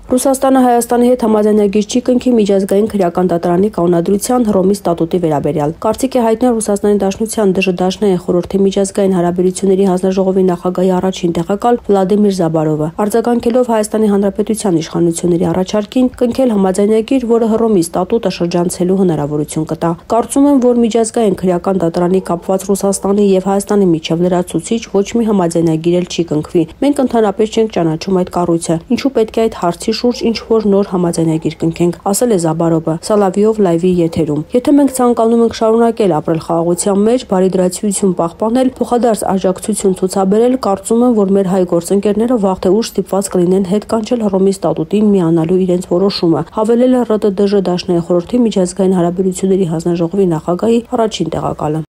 Ռուսաստանը Հայաստանի հետ համաձայնագիր չի կնքի միջազգային քրեական դատարանի կանոնադրության Հռոմի ստատուտի վերաբերյալ։ Կարծիք է հայտնել Ռուսաստանի Դաշնության ԴԺԴ խորհրդի միջազգային հարաբերությունների հանձնաժողովի նախագահի առաջին տեղակալ Վլադիմիր Զաբարովը, արձագանքելով Հայաստանի Հանրապետության իշխանությունների առաջարկին կնքել համաձայնագիր, որը Հռոմի ստատուտը շրջանցելու հնարավորություն կտա։ Կարծում եմ, որ միջազգային քրեական դատարանի կապված Ռուսաստանի եւ Հայաստանի միջև լրացուցիչ ոչ մի համաձայնագիր էլ չի կնքվի։ Մենք ընդհանրապես չենք ճանաչում այդ կառույցը։ Ինչու պետք է այդ հարցի շուրջ ինչ-որ նոր համաձայնագիր կնքենք, ասել է Զաբարովը Սալավիով լայվի եթերում։ Եթե մենք ցանկանում ենք շարունակել ապրել խաղաղության մեջ, բարիդրացիություն պահպանել, փոխադարձ աջակցություն ցուցաբերել, կարծում եմ, որ մեր հայ գործընկերները վաղ թե ուշ ստիպված կլինեն հետ կանչել Հռոմի ստատուտին միանալու իրենց որոշումը, հավելել է ՌՏԴԺ Դաշնային խորհրդի միջազգային հարաբերությունների հանձնաժողովի նախագահի առաջին տեղակալը։